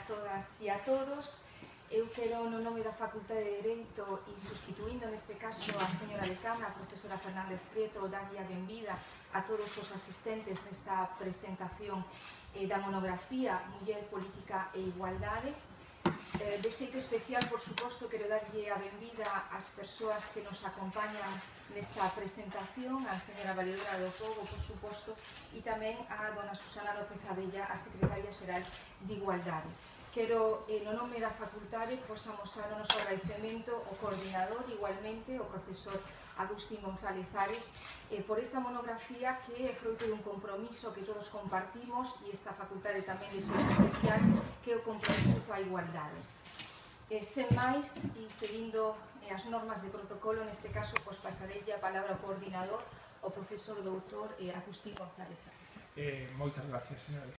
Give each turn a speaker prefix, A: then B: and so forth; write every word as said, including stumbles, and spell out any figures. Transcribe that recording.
A: todas e a todos. Eu quero, no nome da Facultade de Dereito e sustituindo neste caso a señora decana, a profesora Fernández Prieto, darlle a benvida a todos os asistentes nesta presentación eh, da monografía Muller, Política e Igualdade. Eh, de xeito especial, por suposto, quero darlle a benvida ás persoas que nos acompañan nesta presentación, a señora Valedora do Pobo, por suposto, e tamén a dona Susana López Abella, a secretaria xeral de Igualdade. Quero, eh, no nome da facultade, pois amosar o noso agradecemento ao coordinador, igualmente, o profesor Agustín González Ares, eh, por esta monografía que é froito dun compromiso que todos compartimos e esta facultade tamén de xeito especial, que é o compromiso coa igualdade. Eh, sen máis, e seguindo eh, as normas de protocolo, neste caso, pois pasarei a palabra ao coordinador, o profesor doutor eh, Agustín González Ares.
B: Eh, moitas gracias, señora.